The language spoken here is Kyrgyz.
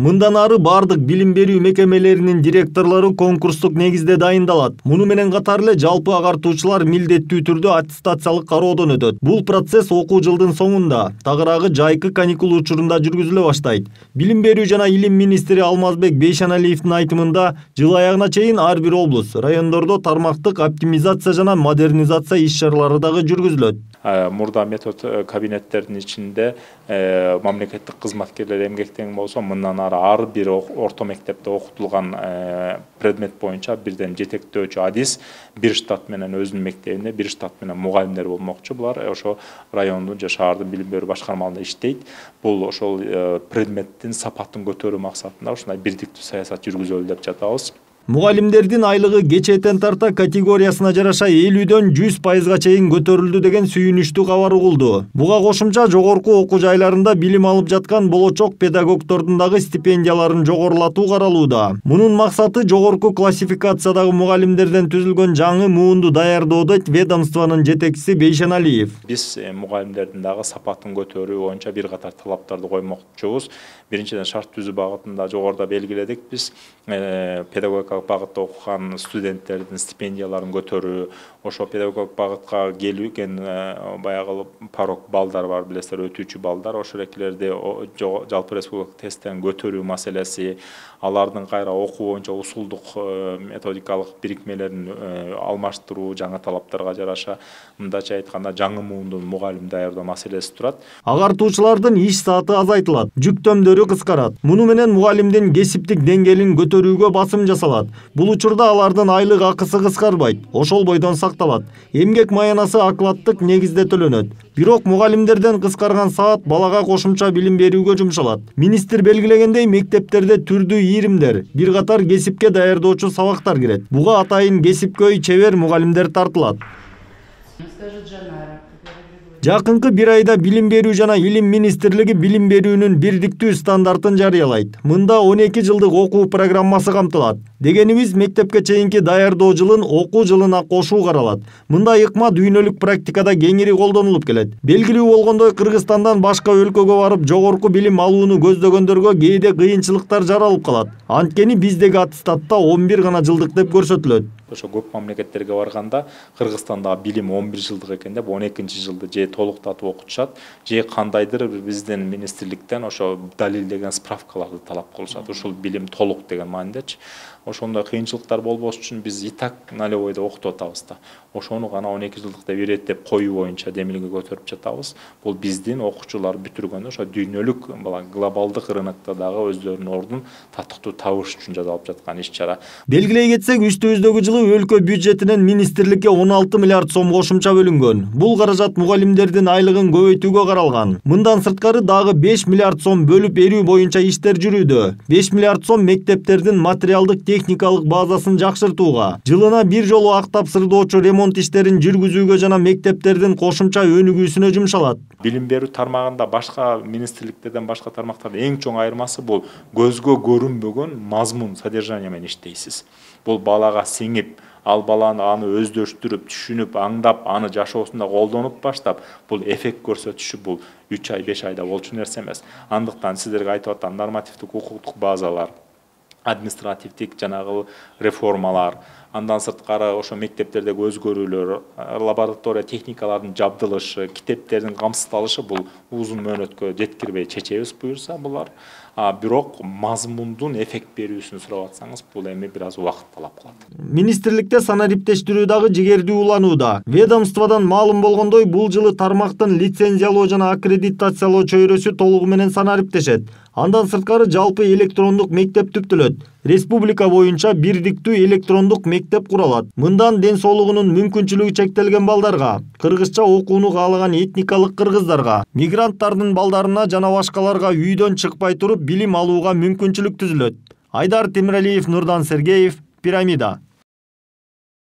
Мындан ары бардык билим берүү мекемелеринин директорлору конкурстук негизде дайындалат. Муну менен катар эле жалпы агартуучулар милдеттүү түрдө аттестациялык кароодон өтөт. Бул процесс окуу жылдын соңунда, тагыраагы жайкы каникул учурунда жүргүзүлө баштайт. Билим берүү жана илим министри Алмазбек Бейшеналиевдин айтымында, жыл аягына чейин ар бир облус, райондордо тармактык оптимизация жана модернизация иш-чаралары дагы жүргүзүлөт. Мурда метод кабинеттердин ичинде мамлекеттик кызматкерлер эмгектенген болсо, мындан ары ар бир орто мектепте окутулган предмет боюнча бирден жетектөөчү адис бир штат менен өзүнүн мектебинде, бир штат менен мугалимдер болмокчу. Булар ошо райондун же шаардын билим берүү башкармаларында иштейт. Бул ошол предметтин сапатын көтөрүү максатында ушундай бирдиктүү саясат жүргүзөлү деп жатабыз. Мугалимдердин айлыгы кечээден тарта категориясына жараша 50дөн 100%га чейин көтөрүлдү деген сүйүнүчтүү кабар угулду. Буга кошумча жогорку окуу жайларында билим алып жаткан болочок педагогдордун дагы стипендияларын жогорулатуу каралууда. Мунун максаты жогорку классификациядагы мугалимдерден түзүлгөн жаңы муунду даярдоо дейт ведомствонун жетекчиси Бейшеналиев. Биз мугалимдердин дагы сапатын көтөрүү боюнча бир катар талаптарды коймокчубуз. Биринчиден шарт түзүү багытында жогоруда белгиледик. Биз педагогикалык багытта окуган студенттердин стипендияларын көтөрүү, ошо педагогикалык багытка келген баягы порог балдар бар, билесиздер, өтүүчү балдар, ошол экилерди жалпы республикалык тесттен көтөрүү маселеси, алардын кайра окуу боюнча усулдук методикалык бирикмелерин алмаштыруу жаңы талаптарга жараша, мындача айтканда жаңы муундун мугалим даярдоо маселеси турат. Агартуучулардын иш сааты азайтылат, жүктөмдөрү кыскарат. Муну менен мугалимдин кесиптик деңгээлин көтөрүүгө басым жасалат. Бул учурда алардын айлык акысы кыскарбайт, ошол бойдон сакталат. Эмгек маянасы окладдык негизде төлөнөт. Бирок мугалимдерден кыскарган саат балага кошумча билим берүүгө жумшалат. Министр белгилегендей, мектептерде түрдүү ийримдер, бир катар кесипке даярдоочу сабактар кирет. Буга атайын кесипкөй чебер мугалимдер тартылат. Жакынкы бир айда Билим берүү жана Илим министрлиги билим берүүнүн бирдиктүү стандартын жарыялайт. Мында 12 жылдык окуу программасы камтылат. Дегенибиз, мектепке чейинки даярдоо жылын окуу жылына кошуу каралат. Мында ыкма дүйнөлүк практикада кеңири колдонулуп келет. Белгилүү болгондой, Кыргызстандан башка өлкөгө барып жогорку билим алууну көздөгөндөргө кээде кыйынчылыктар жаралып калат. Анткени биздеги аттестатта 11 гана жылдык деп көрсөтүлөт. Ошо көп мамлекеттерге барганда Кыргызстанда билим 11 жылдык экен деп 12-чи жылды же толуктатып окутушат, же кандайдыр биздин министрликтен ошо далилдеген справкаларды талап кылышат. Ушул билим толук деген маанидечи. Ошондой кыйынчылыктар болбош үчүн биз и так налевойдо окутуп атабыз да. Ошону гана 12 жылдык деп иреттеп коюу боюнча демилге көтөрүп жатабыз. Бул биздин окуучулар бүтүргөн ошо дүйнөлүк глобалдык рынокто дагы өздөрүнүн ордун татыктуу табыш үчүн жасалып жаткан иш-чара. Белгилей кетсек, үстүбүздөгү жылы өлкө бюджетинен министрликке 16 миллиард сом кошумча бөлүнгөн. Бул каражат мугалимдердин айлыгын көбөйтүүгө каралган. Мындан сырткары дагы 5 миллиард сом бөлүп берүү боюнча иштер жүрүүдө. 5 миллиард сом мектептердин материалдык техникалык базасын жакшыртууга, жылына бир жолу ак тапсырдоочу ремонт иштерин жүргүзүүгө жана мектептердин кошумча өнүгүүсүнө жумшалат. Билим берүү тармагында башка министрликтерден башка тармактардын эң чоң айырмасы бул көзгө көрүнбөгөн мазмун, содержание менен иштейсиз. Бул балага сиңип, ал баланы аны өздөштүрүп, түшүнүп, аңдап, аны жашоосунда колдонуп баштап, бул эффект көрсөтүшү бул 3 ай, 5 айда болчу нерсе эмес. Андыктан сиздерге айтып атам, нормативдик укуктук базалар, административдик жанагы реформалар, андан сырткары ошо мектептердеги өзгөрүүлөр, лаборатория техникалардын жабдылышы, китептердин камсыздалышы бул узун мөөнөткө жеткирбей чечебиз буюрса булар. Бирок мазмундун эффект берүүсүн сурап атсаңыз, бул эми бир аз убакыт талап кылат. Министрликте санариптештирүү дагы жигердүү уланууда. Ведомстводон маалым болгондой, бул жылы тармактын лицензиялоо жана аккредитациялоо чөйрөсү толугу менен санариптешет. Андан сырткары жалпы электрондук мектеп түптөлөт. Республика боюнча бирдиктүү электрондук мектеп куралат. Мындан ден соолугунун мүмкүнчүлүгү чектелген балдарга, кыргызча окууну каалаган этникалык кыргыздарга, мигранттардын балдарына жана башкаларга үйдөн чыкпай туруп билим алууга мүмкүнчүлүк түзүлөт. Айдар Темиралиев, Нурдан Сергеев, Пирамида.